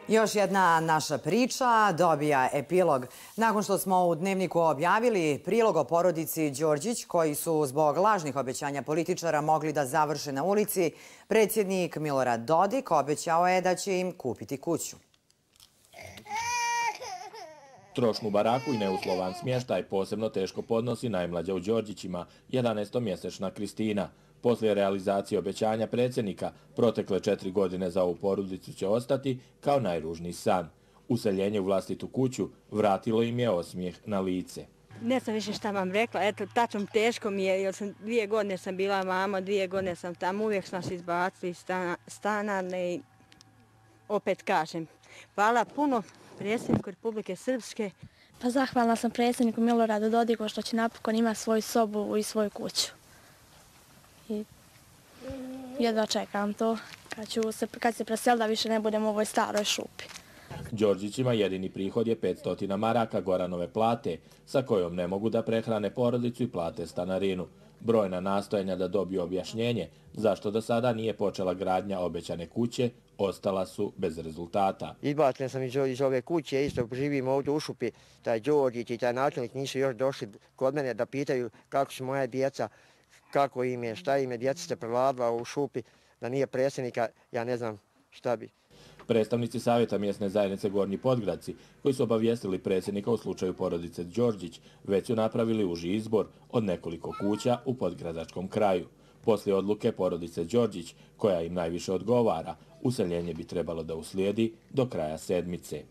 Još jedna naša priča dobija epilog. Nakon što smo u Dnevniku objavili prilog o porodici Đorđić, koji su zbog lažnih obećanja političara mogli da završe na ulici, predsjednik Milorad Dodik obećao je da će im kupiti kuću. Trošnu baraku i neuslovan smještaj posebno teško podnosi najmlađa u Đorđićima, 11-mjesečna Kristina. Poslije realizacije obećanja predsjednika, protekle 4 godine za ovu porodicu će ostati kao najružniji san. Useljenje u vlastitu kuću vratilo im je osmijeh na lice. Ne znam više šta vam rekla, eto, tačno teško mi je, jer 2 godine sam bila mama, 2 godine sam tamo, uvijek smo se izbacili iz stana i opet kažem, hvala puno predsjedniku Republike Srpske. Pa zahvalna sam predsjedniku Miloradu Dodiku što će napokon imati svoju sobu i svoju kuću. I jedva čekam to, kad se preseli da više ne budem u ovoj staroj šupi. Đorđićima jedini prihod je 500 maraka Goranove plate, sa kojom ne mogu da prehrane porodicu i plate stanarinu. Brojna nastojanja da dobiju objašnjenje zašto do sada nije počela gradnja obećane kuće ostala su bez rezultata. Izbačen sam iz ove kuće, isto živim ovdje u šupi, taj Đorđić i taj načelnik nisu još došli kod mene da pitaju kako su moja djeca, kako im je, šta im je, djeca se prevladila u šupi, da nije predsjednika, ja ne znam šta bi. Predstavnici Savjeta mjesne zajednice Gornji Podgradci, koji su obavijestili predsjednika u slučaju porodice Đorđić, već su napravili uži izbor od nekoliko kuća u podgradačkom kraju. Poslije odluke porodice Đorđić, koja im najviše odgovara, useljenje bi trebalo da uslijedi do kraja sedmice.